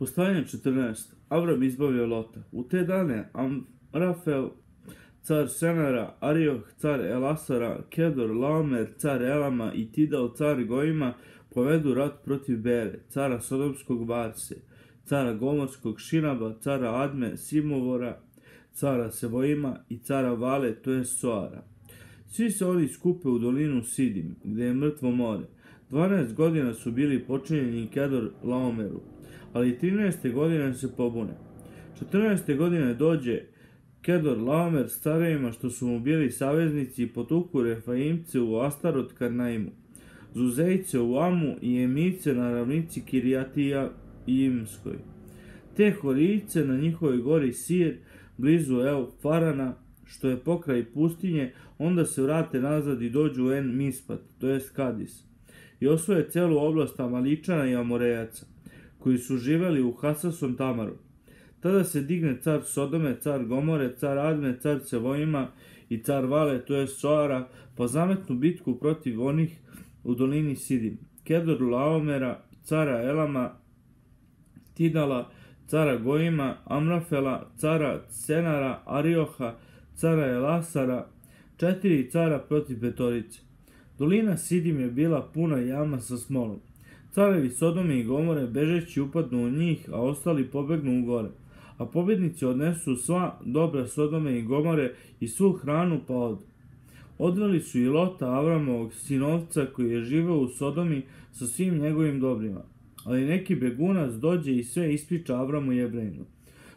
Postavljanje 14. Avram izbavio Lota. U te dane Amrafel, car Senara, Arioh, car Elasara, Kedor, Laomer, car Elama i Tidal, car Gojima, povedu rat protiv Bere, cara Sodomskog Varse, cara Gomorskog Šinaba, cara Adme, Simovora, cara Sevojima i cara Vale, to je Soara. Svi se oni skupe u dolinu Sidim, gde je mrtvo more. 12 godina su bili počinjeni Kedor Laomeru, ali 13. godine se pobune. 14. godine dođe Kedor Laomer s carevima što su mu bili saveznici i potuku Refaimce u Astarot Karnaimu, Zuzejce u Amu i Emice na ravnici Kirijatija i Imskoj, te Horijce na njihovoj gori Sir, blizu Farana, što je pokraj pustinje, onda se vrate nazad i dođu u En Mispat, to jest Kadis, i osvoje celu oblast Amaličana i Amorejaca, koji su živeli u Hasason Tamaru. Tada se digne car Sodome, car Gomore, car Adme, car Sevojima i car Vale, to je Soara, pa zametnu bitku protiv onih u dolini Sidim. Kedor Laomera, cara Elama, Tidala, cara Gojima, Amrafela, cara Senara, Arioha, cara Elasara, 4 cara protiv petorice. Dolina Sidim je bila puna jama sa smolom. Carevi Sodome i Gomore bežeći upadnu u njih, a ostali pobegnu u gore. A pobjednici odnesu sva dobra Sodome i Gomore i svu hranu pa odu. Odveli su i Lota, Avramovog sinovca, koji je živeo u Sodomi sa svim njegovim dobrima. Ali neki begunac dođe i sve ispriča Avramu Jevrejinu,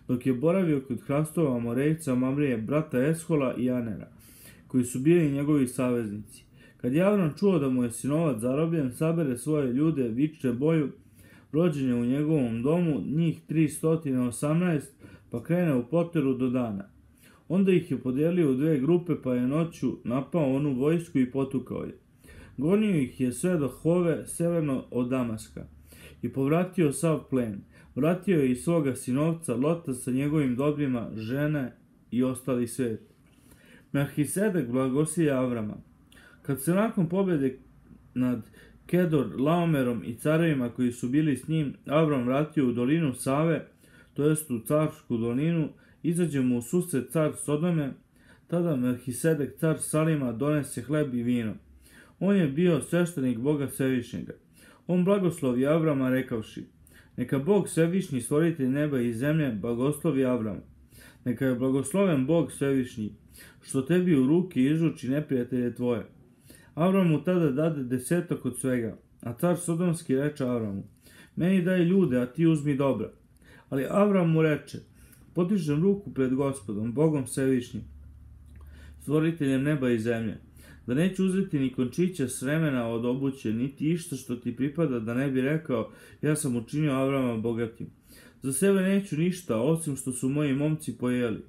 dok je boravio kod hrastova Amorejca Mamrije, brata Eshola i Anera, koji su bili njegovi saveznici. Kad je Avram čuo da mu je sinovac zarobljen, sabere svoje ljude, viče boju, rođenje u njegovom domu, njih 318, pa krene u poteru do dana. Onda ih je podijelio u 2 grupe, pa je noću napao onu vojsku i potukao je. Gonio ih je sve do Hove, severno od Damaska, i povratio sav plen. Vratio je i svoga sinovca Lota sa njegovim dobrima, žene i ostali svet. Melhisedek blagosilja Avrama. Kad se nakon pobjede nad Kedor Laomerom i carevima koji su bili s njim, Avram vratio u dolinu Save, to jest u carsku dolinu, izađe mu u susret car Sodome, tada Melhisedek car Salima donese hleb i vino. On je bio sveštenik Boga Svevišnjega. On blagoslovi Avrama rekavši: neka Bog Svevišnji, stvoritelj neba i zemlje, blagoslovi Avrama. Neka je blagosloven Bog Svevišnji, što tebi u ruke izruči neprijatelje tvoje. Avram mu tada dade 10 od svega, a car Sodomski reče Avramu: meni daj ljude, a ti uzmi dobra. Ali Avram mu reče: podižem ruku pred Gospodom, Bogom Svevišnjim, stvoriteljem neba i zemlje, da neću uzeti ni končića sremena od obuće, niti išta što ti pripada, da ne bi rekao: ja sam učinio Avrama bogatim. Za sebe neću ništa, osim što su moji momci pojeli.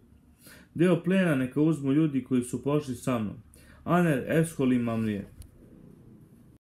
Deo plena neka uzmu ljudi koji su pošli sa mnom, Aner, Eshol i Mamrije.